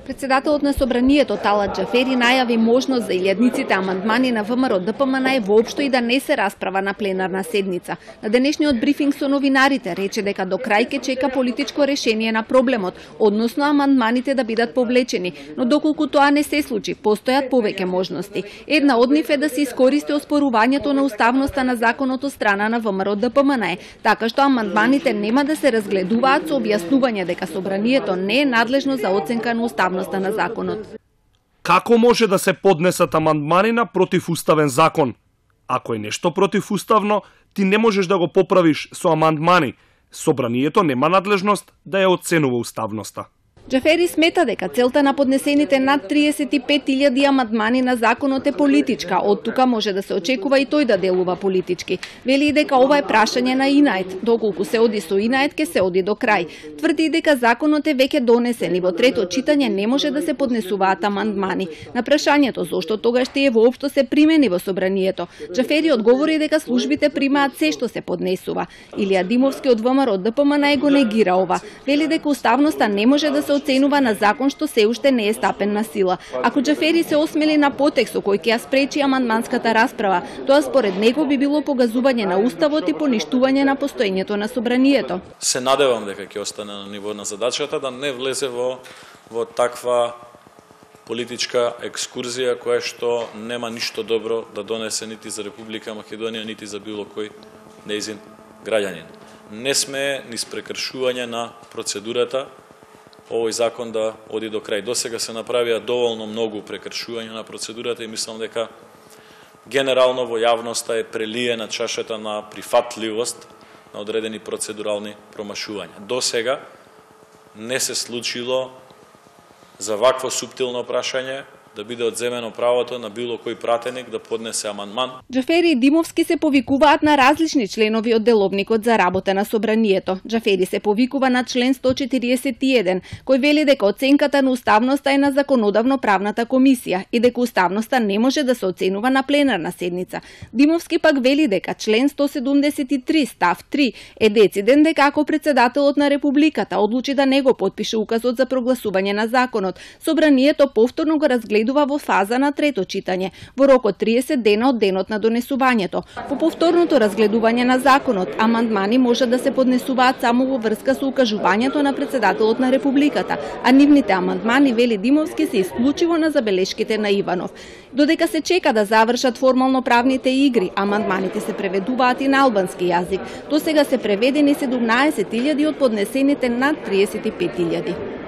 Председателот на Собранието Талат Џафери најави можност за илјадниците амандмани на ВМРО ДПМН воопшто и да не се расправа на пленарна седница. На денешниот брифинг со новинарите рече дека до крај ќе чека политичко решение на проблемот, односно амандманите да бидат повлечени, но доколку тоа не се случи, постојат повеќе можности. Една од нив е да се искористи оспорувањето на уставноста на законот од страна на ВМРО ДПМН, така што амандманите нема да се разгледуваат со објаснување дека Собранието не е надлежно за оценка на уставноста на законот. Како може да се поднесат амандмани на противуставен закон? Ако е нешто противуставно, ти не можеш да го поправиш со амандмани. Собранието нема надлежност да ја оценува уставноста. Џафери смета дека целта на поднесените над 35.000 амандмани на законот е политичка, од тука може да се очекува и тој да делува политички. Вели дека ова е прашање на инает, доколку се оди со инает ке се оди до крај. Тврди дека законот е веќе донесен и во трето читање не може да се поднесуваат амандмани. На прашањето зошто тогаш тие воопшто се примени во Собранието, Џафери одговори дека службите примаат се што се поднесува. Илија Димовски од ВМРО ДПМН го негира ова. Вели дека уставноста не може да се оценува на закон што се уште не е стапен на сила. Ако Џафери се осмели на потек со кој ќе ја спречи амандманската расправа, тоа според него би било погазување на уставот и поништување на постоењето на Собранието. Се надевам дека ќе остане на ниво на задачата, да не влезе во таква политичка екскурзија која што нема ништо добро да донесе нити за Република Македонија, нити за било кој нејзин граѓанин. Не сме низ прекршување на процедурата овој закон да оди до крај. Досега се направија доволно многу прекршувања на процедурата и мислам дека генерално во јавноста е прелиена чашата на прифатливост на одредени процедурални промашувања. Досега не се случило за вакво суптилно прашање да биде одземено правото на било кој пратеник да поднесе амандман. Џафери и Димовски се повикуваат на различни членови од деловникот за работа на Собранието. Џафери се повикува на член 141, кој вели дека оценката на уставноста е на законодавно-правната комисија и дека уставноста не може да се оценува на пленарна седница. Димовски пак вели дека член 173 став 3 е дециден дека ако председателот на Републиката одлучи да не го потпише указот за прогласување на законот, Собранието повторно го разгледува во фаза на трето читање, во рок од 30 дена од денот на донесувањето. По повторното разгледување на законот, амандмани може да се поднесуваат само во врска со укажувањето на председателот на Републиката, а нивните амандмани, вели Димовски, се исклучиво на забелешките на Иванов. Додека се чека да завршат формално правните игри, амандманите се преведуваат и на албански јазик. Досега се преведени 17.000 од поднесените над 35.000.